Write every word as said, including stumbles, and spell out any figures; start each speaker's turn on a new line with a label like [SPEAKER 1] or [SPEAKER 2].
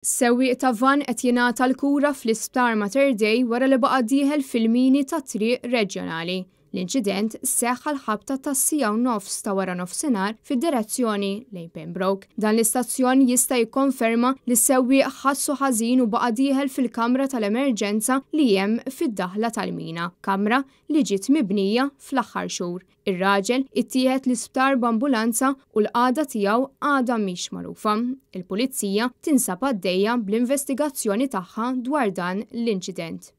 [SPEAKER 1] Sewwieq ta' van qed jingħata l-kura fl-Isptar Mater Dei wara li baqa' dieħel fil-mini ta' triq reġjonali. L-inċident seħħ għal ħabta tas-siegħa u nofs ta' wara nofsinhar fid-direzzjoni lejn Pembroke. Dan l-istazzjon jista' jikkonferma li s-sewwieq ħassu ħażin u baqa' dieħel fil-kamra tal-emerġenza li hemm fid-daħla tal-mina, kamra li ġiet mibnija fl-aħħar xhur. Ir-raġel ittieħed l-isptar b'ambulanza u l-qagħda tiegħu għadha mhix magħrufa. Il-Pulizija tinsab għaddejja bl-investigazzjoni tagħha dwar dan l-inċident.